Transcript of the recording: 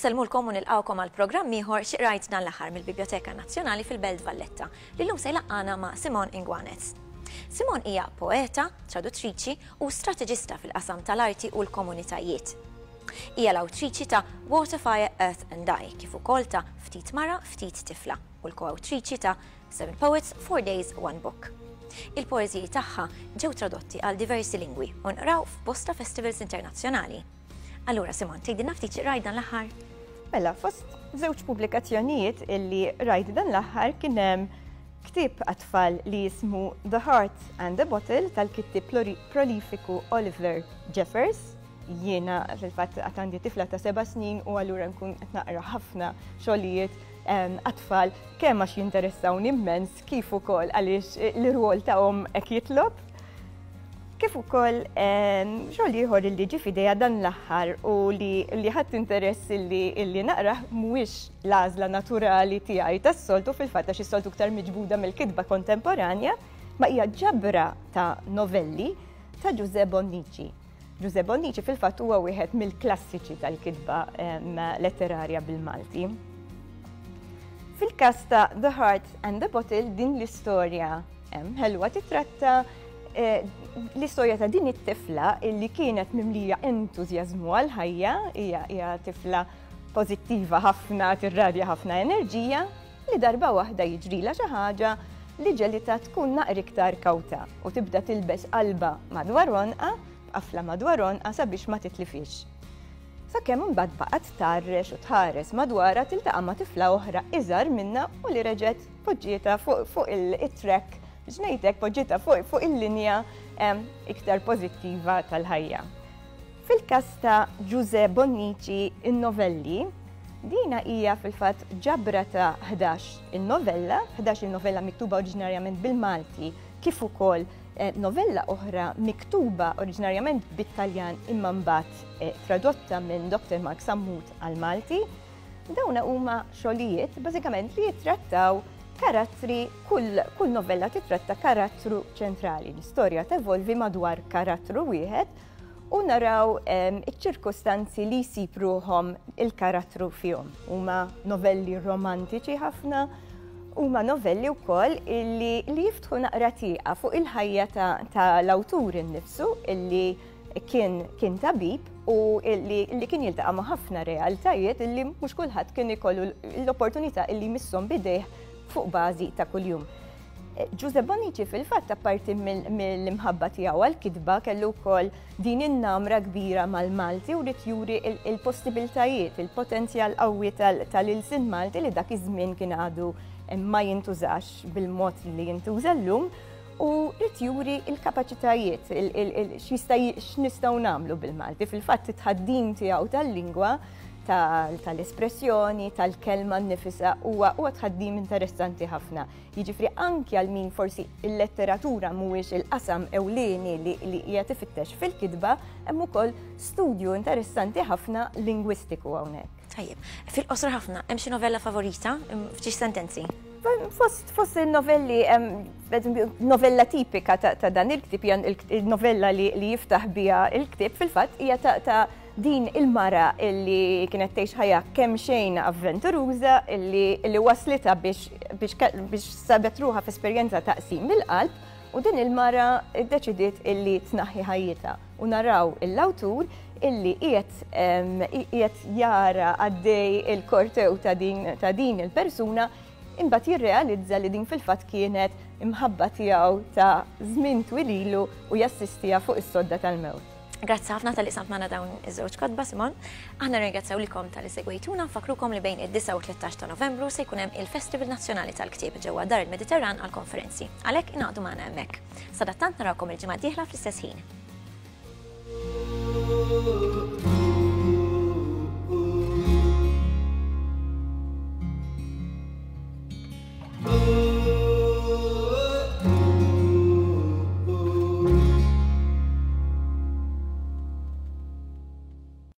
Insellmulkom u nilqgħukom għal programm ieħor Xi Qrajt Dan l-Aħħar mill-Bibljoteka Nazzjonali fil-Belt Valletta, li llum se jlaqqagħna ma' Simone Inguanez. Simone hija poeta, traduttriċi u strateġista fil-qasam tal-arti u l-komunitajiet. Hija l-awtriċi ta' Water, Fire, Earth and I kif ukoll ta' Ftit Mara, Ftit Tifla u l-koawtriċi ta' Seven Poets, Four Days, One Book. Il-poeżiji tagħha ġew tradotti għal diversi lingwi u nqraw f'bosta festivals internazzjonali. Allura, Simon, tgħidilna ftit xi qrajt dan l-aħħar? Mela, fost żewġ pubblikazzjonijiet illi rajt dan l-aħħar kien hemm ktieb għat-tfal li jismu The Heart and the Bottle tal-kittieb prolifiku Oliver Jeffers. Jiena fil-fatt għad għandi tifla ta' seba' snin u allura nkun qed naqra ħafna xogħlijiet għat-tfal kemm għax jinteressawni immens kif ukoll għaliex l-irwol ta' omm hekk jitlob. Kif ukoll xogħol ieħor li ġie f'idejja dan l-aħħar u li li ħadt interess illi illi naqrah mhuwiex l-għażla naturali tiegħi tas-soltu fil-fatt għax is-soltu iktar miġbuda mill-kitba kontemporanja, ma hija ġabra ta' novelli ta' Ġużè Bonnici. Ġużè Bonnici fil-fatt huwa wieħed mill-klassiċi tal-kitba letterarja bil-Malti. Fil-każ ta' The Heart and the Bottle din l-istorja ħelwa titratta eh, l-istorja ta' din it-tifla illi kienet mimlija entużjażmu għal-ħajja, hija tifla pożittiva ħafna, tirradja ħafna enerġija, li darba waħda jiġrilha xi ħaġa li ġelitha tkun naqra iktar kawta u tibda tilbes qalba madwar għonqha, b'qafla madwar għonqha sabiex ma titlifhiex. Sakemm imbagħad baqgħet tgħarrex u tħares madwarha tiltaqa' ma' tifla oħra iżgħar minnha u li reġgħet poġġietha fuq it-track, biex ngħid hekk, poġġietha fuq il-linja iktar pożittiva tal-ħajja. Fil-każ ta' Ġużè Bonnici in-novelli, dina hija fil-fatt ġabra ta' 11 il-novella, 11 il-novella miktuba oriġinarjament bil-Malti kif ukoll eh, novella oħra miktuba oriġinarjament bit-Taljan imma mbagħad eh, tradotta minn Dr. Mark Sammut għal-Malti. Dawna huma xogħlijiet bażikament li jittrattaw karattri, kull, kull novella titratta karattru ċentrali. L-istorja tevolvi madwar karattru wieħed u naraw iċ-ċirkustanzi li jsib ruħhom il-karattru fihom. Huma novelli romantiċi ħafna, huma novelli wkoll illi li jiftħu naqra tieqa fuq il-ħajja tal-awtur innifsu illi kien kien tabib u illi li kien jiltaqa' ma' ħafna realtajiet illi mhux kulħadd kien ikollu l-opportunità illi jmisshom bidejh fuq bażi ta' kuljum. Ġużè Bonnici fil-fatt apparti mill-imħabba tiegħu għall-kitba kellu wkoll din in-namra kbira mal-Malti u ried juri il-possibiltajiet, il-potenzjal qawwi tal-ilsien Malti li dak iż-żmien kien għadu ma jintużax bil-mod li jintuża llum u ried juri l-kapaċitajiet, x'nistgħu nagħmlu bil-Malti. Fil-fatt it-tħaddim tiegħu tal-lingwa tal-espressjoni, tal-kelma nnifisha huwa tħaddim interessanti ħafna. Jiġifieri anki għal min forsi il-letteratura mhuwiex il-qasam ewlieni li qiegħed ifittex fil-kitba, hemm ukoll studju interessanti ħafna lingwistiku hawnhekk. Tajjeb, fil-qosor ħafna, hemm xi novella favorita f'xi sentenzi? Fost, fost il-novelli, novella tipika ta' dan il-ktib, il-novella li jiftaħ biha il-ktib, fil-fatt hija ta' Din il-mara illi kienet tgħix ħajja kemm xejn avventuruża illi illi waslitha biex biex biex sabet ruħha f'esperjenza ta' qsim mill-qalb u din il-mara ddeċidiet illi tnaħħi ħajjitha u naraw l-awtur illi qiegħed qiegħed jara għaddej il-kortew ta' din ta' din il-persuna imbagħad jirrealizza li din fil-fatt kienet imħabba tiegħu ta' żmien twil ilu u jassistiha fuq is-sodda tal-mewt. Grazzi ħafna tal-li samt magħna dawn iż-żewġ kotba, Simon. Aħna ringrazzjaw lilkom tal-li segwejtuna, nfakkrukom li bejn id-9 u 13 ta' Novembru se jkun hemm il-Festival Nazzjonali tal-Ktieb ġewwa Dar il-Mediterran għall-konferenzi. Għalhekk ingħaqdu magħna hemmhekk. Sadattant narawkom il-ġimgħa d-dieħla fl-istess ħin.